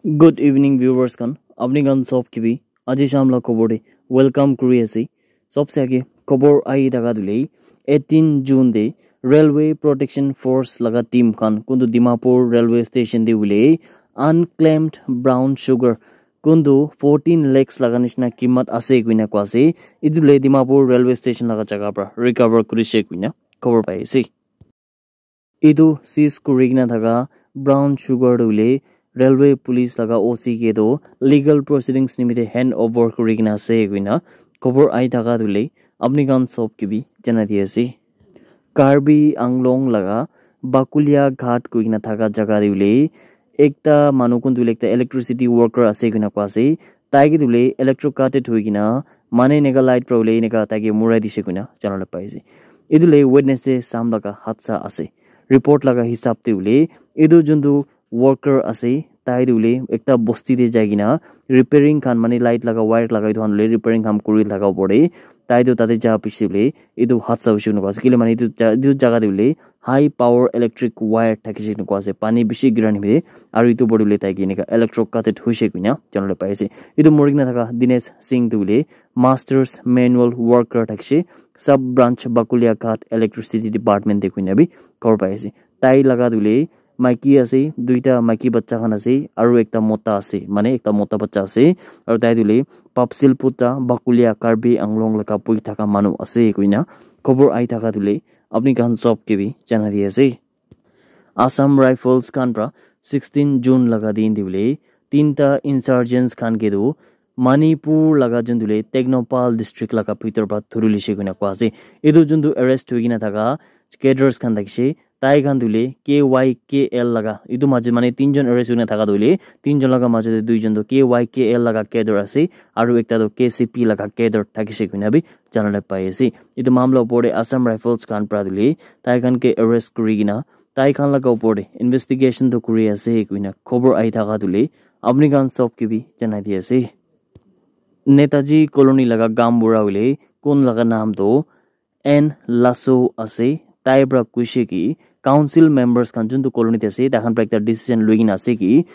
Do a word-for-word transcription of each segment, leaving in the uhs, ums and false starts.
Good evening, viewers khan. Apni khan sob ke bi aji sham la khobor te welcome kuri ase. Sobse age khobor ahi thaka tu le eighteen June te Railway Protection Force laga team khan kuntu Dimapur railway station te hoile unclaimed brown sugar kuntu fourteen lakhs laga nishina kimat ase koina koa ase. Etu le Dimapur railway station laga jaga pra recover kurise koina khobor pai ase. Etu seize kuri kena thaka brown sugar tu hoile railway police laga O C ke tu legal proceedings nimite hand over kuri kena ase koina khobor ahi thaka tu hoile apni khan sob ke bi janai di ase. Karbi Anglong laga Bakulia Ghat koi kena thaka jaga te hoile ekta manu kuntu hoile ekta electricity worker ase koina koa ase. Tai ke tu hoile electro cuted hoi kena mane eneka light pra hoile eneka tai ke murai dise koina jana le pai ase. Etu le Wednesday sham laga hadsa ase. Report laga hisab te hoile etu juntu worker ase, tai tu hoile ekta bosti te jai kena repairing khan mane light laga wire laga etu khan hoile repairing khan kuri laga opor te tai tu tate ja piche hoile etu hadsa hoise koina koa ase. Kile mane etu ja-, etu jaga te hoile high power electric wire thakise koina koa ase. Pani bishi gira nimite aru etu opor te hoile tai ke eneka electro cuted hoise koina jana le pai ase. Etu mori kena thaka Dinesh Singh tu hoile masters manual worker thakise, sub branch Bakulia Ghat electricity department te koina bi khobor pai ase. Tai laga tu hoile maiki ase, duita maiki bacha khan ase aru ekta mota ase, mane ekta mota bacha ase aru tai tu hoile Papsil Putra Bakulia Karbi Anglong laga bui thaka manu ase koina khobor ahi thaka tu hoile apni khan sob ke bi janai di ase. Assam Rifles khan pra sixteen June laga din te hoile tinta insurgents khan ke tu Manipur laga juntu hoile Tengnoupal district laga bhitor pra dhuri lise koina koa ase. Etu juntu arrest hoi kena thaka cadres khan thakise, tai khan tu hoile K Y K L laga etu majo mane tinjon arrest hoi kena thaka tu hoile tinjon laga majo te duijon tu K Y K L laga cadre ase aru ekta tu K C P laga cadre thakise koina bi jana le pai ase. Etu mamla opor te Assam Rifles khan pra tu hoile tai khan ke arrest kuri kena tai khan laga opor te investigation tu kuri ase koina khobor ahi thaka tu hoile apni khan sob ke bi janai di ase. Netaji Colony laga gaon bura hoile kun laga naam tu N Lasso ase. Tai pra koise ki council members khan juntu colony te ase, tai khan pra ekta decision loi kena ase ki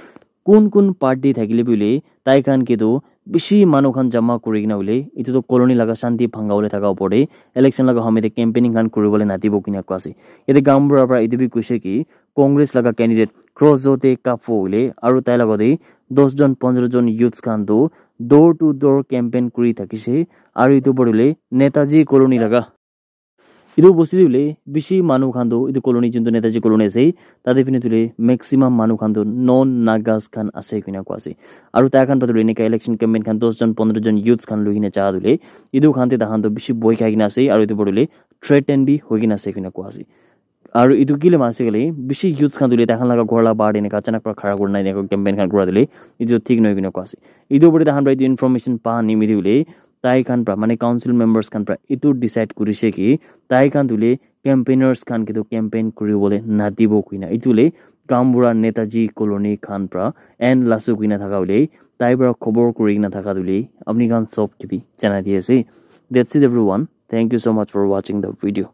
kun kun party thakile bi hoile tai khan ke tu bishi manu khan jama kuri kena hoile etu tu colony laga shanti bhanga bole thaka opor te election laga hamay te campaigning khan kuri bole nadibo koina koa ase. Yate gaon bura pra etu bi koise ki Congress laga candidate Crossjote Kapfo hoile aru tai laga te dos jon pondro jon youths khan tu door to door campaign kuri thakise aru etu opor te hoile Netaji Colony laga etu bosti te hoile bishi manu khan tu etu colony juntu Netaji Colony ase tate phine tu hoile maximum manu khan tu non Nagas khan ase koina koa ase. Aru tai khan pra tu hoile eneka election campaign khan dos jon pondro jon youths khan loi kena ja tu hoile etu khan te tai khan tu bishi boi khai kena ase aru etu opor te hoile threaten bi hoi kena ase koina koa ase. Aru etu kile mane ase koile bishi youths khan tu hoile tai khan laga ghor la bahar te eneka achanak pra khara kurina eneka campaign khan kura tu hoile etu thik nohoi koina koa ase. Etu opor te tai khan pra etu information pa nimite hoile tai khan pra mane council members khan pra etu decide kurise ki tai khan tu hoile campaigners khan ke tu campaign kuri bole nadibo koina. Etu hoile gaon bura Netaji Colony khan pra N Lasso koina thaka hoile tai pra khobor kuri kena thaka tu hoile apni khan sob ke bi janai di ase. That's it everyone. Thank you so much for watching the video.